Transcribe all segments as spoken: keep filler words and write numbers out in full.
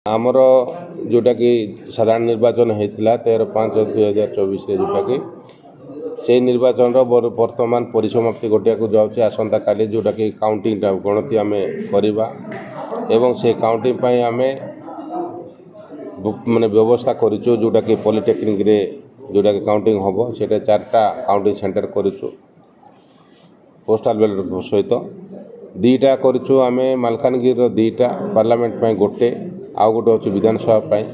ଆମର ଯେଉଁଟାକି ସାଧାରଣ ନିର୍ବାଚନ ହେଇଥିଲା ତେର ପାଞ୍ଚ ଦୁଇ ହଜାର ଚବିଶରେ, ଯେଉଁଟାକି ସେଇ ନିର୍ବାଚନର ବର୍ତ୍ତମାନ ପରିସମାପ୍ତି ଘଟିବାକୁ ଯାଉଛି ଆସନ୍ତାକାଲି, ଯେଉଁଟାକି କାଉଣ୍ଟିଂଟା ଗଣତି ଆମେ କରିବା ଏବଂ ସେ କାଉଣ୍ଟିଂ ପାଇଁ ଆମେ ମାନେ ବ୍ୟବସ୍ଥା କରିଛୁ, ଯେଉଁଟାକି ପଲିଟେକ୍ନିକ୍ରେ ଯେଉଁଟାକି କାଉଣ୍ଟିଂ ହେବ, ସେଇଟା ଚାରିଟା କାଉଣ୍ଟିଂ ସେଣ୍ଟର କରିଛୁ। ପୋଷ୍ଟାଲ୍ ବ୍ୟାଲେଟ୍ ସହିତ ଦୁଇଟା କରିଛୁ ଆମେ, ମାଲକାନଗିରିର ଦୁଇଟା, ପାର୍ଲାମେଣ୍ଟ ପାଇଁ ଗୋଟେ, ଆଉ ଗୋଟେ ଅଛି ବିଧାନସଭା ପାଇଁ।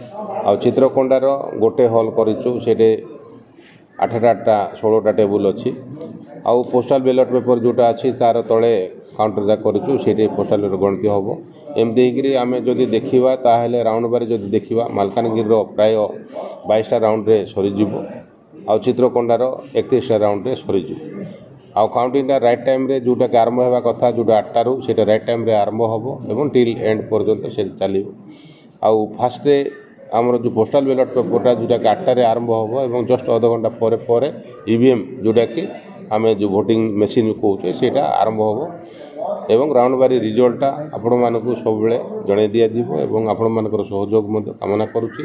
ଆଉ ଚିତ୍ରକୋଣ୍ଡାର ଗୋଟେ ହଲ୍ କରିଛୁ, ସେଇଠି ଆଠଟା ଆଠଟା ଷୋହଳଟା ଟେବୁଲ୍ ଅଛି। ଆଉ ପୋଷ୍ଟାଲ୍ ବ୍ୟାଲଟ୍ ପେପର୍ ଯେଉଁଟା ଅଛି, ତା'ର ତଳେ କାଉଣ୍ଟର ଯାକ କରିଛୁ, ସେଇଠି ପୋଷ୍ଟାଲ୍ ବ୍ୟାଲଟ୍ ଗଣତି ହେବ। ଏମିତି ହେଇକିରି ଆମେ ଯଦି ଦେଖିବା, ତାହେଲେ ରାଉଣ୍ଡ ବାରି ଯଦି ଦେଖିବା, ମାଲକାନଗିରିର ପ୍ରାୟ ବାଇଶଟା ରାଉଣ୍ଡରେ ସରିଯିବ ଆଉ ଚିତ୍ରକୋଣ୍ଡାର ଏକତିରିଶଟା ରାଉଣ୍ଡରେ ସରିଯିବ। ଆଉ କାଉଣ୍ଟିଂଟା ରାଇଟ୍ ଟାଇମ୍ରେ ଯେଉଁଟାକି ଆରମ୍ଭ ହେବା କଥା, ଯେଉଁଟା ଆଠଟାରୁ, ସେଇଟା ରାଇଟ୍ ଟାଇମ୍ରେ ଆରମ୍ଭ ହେବ ଏବଂ ଟିଲ୍ ଏଣ୍ଡ ପର୍ଯ୍ୟନ୍ତ ସେ ଚାଲିବ। ଆଉ ଫାଷ୍ଟରେ ଆମର ଯେଉଁ ପୋଷ୍ଟାଲ୍ ବ୍ୟାଲଟ୍ ପେପର୍ଟା ଯେଉଁଟାକି ଆଠଟାରେ ଆରମ୍ଭ ହେବ ଏବଂ ଜଷ୍ଟ ଅଧଘଣ୍ଟା ପରେ ପରେ ଇ ଭି ଏମ୍, ଯେଉଁଟାକି ଆମେ ଯେଉଁ ଭୋଟିଂ ମେସିନ୍ କହୁଛେ, ସେଇଟା ଆରମ୍ଭ ହେବ ଏବଂ ରାଉଣ୍ଡ ବାରି ରିଜଲ୍ଟଟା ଆପଣମାନଙ୍କୁ ସବୁବେଳେ ଜଣାଇ ଦିଆଯିବ। ଏବଂ ଆପଣମାନଙ୍କର ସହଯୋଗ ମଧ୍ୟ କାମନା କରୁଛି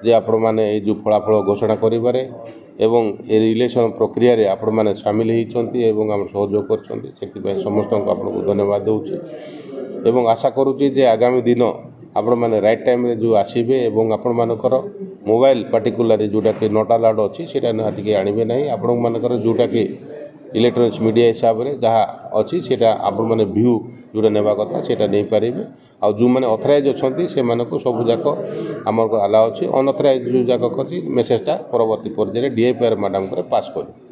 ଯେ ଆପଣମାନେ ଏଇ ଯେଉଁ ଫଳାଫଳ ଘୋଷଣା କରିବାରେ ଏବଂ ଏ ଇଲେକ୍ସନ୍ ପ୍ରକ୍ରିୟାରେ ଆପଣମାନେ ସାମିଲ ହେଇଛନ୍ତି ଏବଂ ଆମର ସହଯୋଗ କରିଛନ୍ତି, ସେଥିପାଇଁ ସମସ୍ତଙ୍କୁ ଆପଣଙ୍କୁ ଧନ୍ୟବାଦ ଦେଉଛି। ଏବଂ ଆଶା କରୁଛି ଯେ ଆଗାମୀ ଦିନ ଆପଣମାନେ ରାଇଟ୍ ଟାଇମ୍ରେ ଯେଉଁ ଆସିବେ ଏବଂ ଆପଣମାନଙ୍କର ମୋବାଇଲ ପାର୍ଟିକୁଲାରଲି ଯେଉଁଟାକି not allowed ଅଛି, ସେଇଟା ନା ଟିକେ ଆଣିବେ ନାହିଁ। ଆପଣମାନଙ୍କର ଯେଉଁଟାକି ଇଲେକ୍ଟ୍ରୋନିକ୍ସ ମିଡ଼ିଆ ହିସାବରେ ଯାହା ଅଛି, ସେଇଟା ଆପଣମାନେ ଭ୍ୟୁ ଯେଉଁଟା ନେବା କଥା ସେଇଟା ନେଇପାରିବେ। ଆଉ ଯେଉଁମାନେ ଅଥରାଇଜ୍ ଅଛନ୍ତି, ସେମାନଙ୍କୁ ସବୁଯାକ ଆମର ଆଲାଉ ଅଛି। ଅନଅଥରାଇଜ୍ ଯେଉଁ ଯାକ ଅଛି, ମେସେଜଟା ପରବର୍ତ୍ତୀ ପର୍ଯ୍ୟାୟରେ ଡି I P R ମ୍ୟାଡ଼ାମଙ୍କର ପାସ୍ କରିବେ।